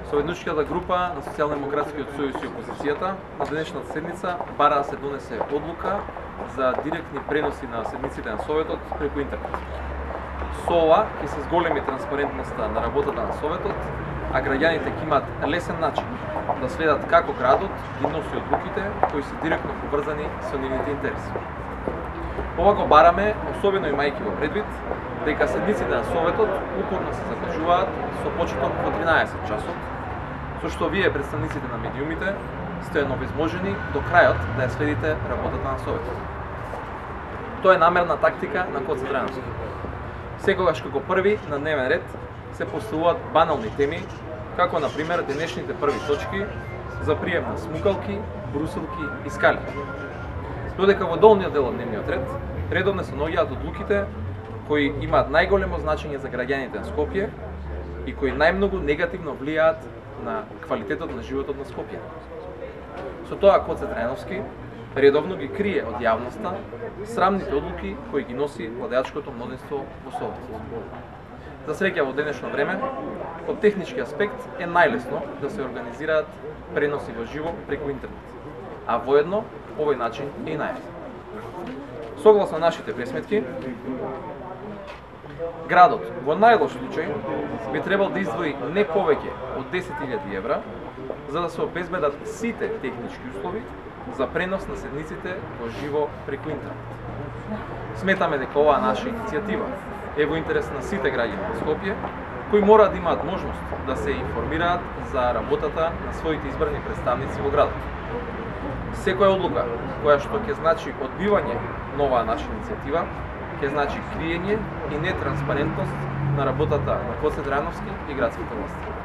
Советничката група на Социјалдемократскиот сојуз и опозицијата на денешната седница бара да се донесе одлука за директни преноси на седниците на Советот преку интернет. Со ова ќе се зголеми транспарентноста на работата на Советот, а граѓаните ќе имаат лесен начин да следат како градот ги носи одлуките кои се директно поврзани со нивните интереси. Ова го бараме, особено имајќи во предвид дека седниците на Советот упорно се закажуваат со почеток во 13 часот, со што вие, представниците на медиумите, сте овозможени до крајот да ја следите работата на Советот. Тоа е намерна тактика на Гоце Делчев. Секогаш како први на дневен ред се поставуваат банални теми, како на пример денешните први точки за прием на смукалки, брусилки и скали. Додека во долниот дел од дневниот ред редовно се наоѓаат одлуките кои имаат најголемо значење за граѓаните на Скопје и кои најмногу негативно влијаат на квалитетот на животот на Скопје. Со тоа Гоце Делчев редовно ги крие од јавноста срамните одлуки кои ги носи владеачкото мнозинство во Советот. За среќа во денешно време, од технички аспект е најлесно да се организираат преноси во живо преку интернет, а воедно овој начин е и најефтин. Согласно нашите пресметки, градот во најлош случај би требал да издвои не повеќе од 10.000 евра за да се обезбедат сите технички услови за пренос на седниците во живо преку интернет. Сметаме дека оваа наша иницијатива е во интерес на сите граѓани на Скопје, кои мора да имаат можност да се информираат за работата на своите избрани представници во градот. Секоја одлука која што ќе значи одбивање на оваа наша иницијатива, ќе значи криење и нетранспарентност на работата на Гоце Делчев и градските власти.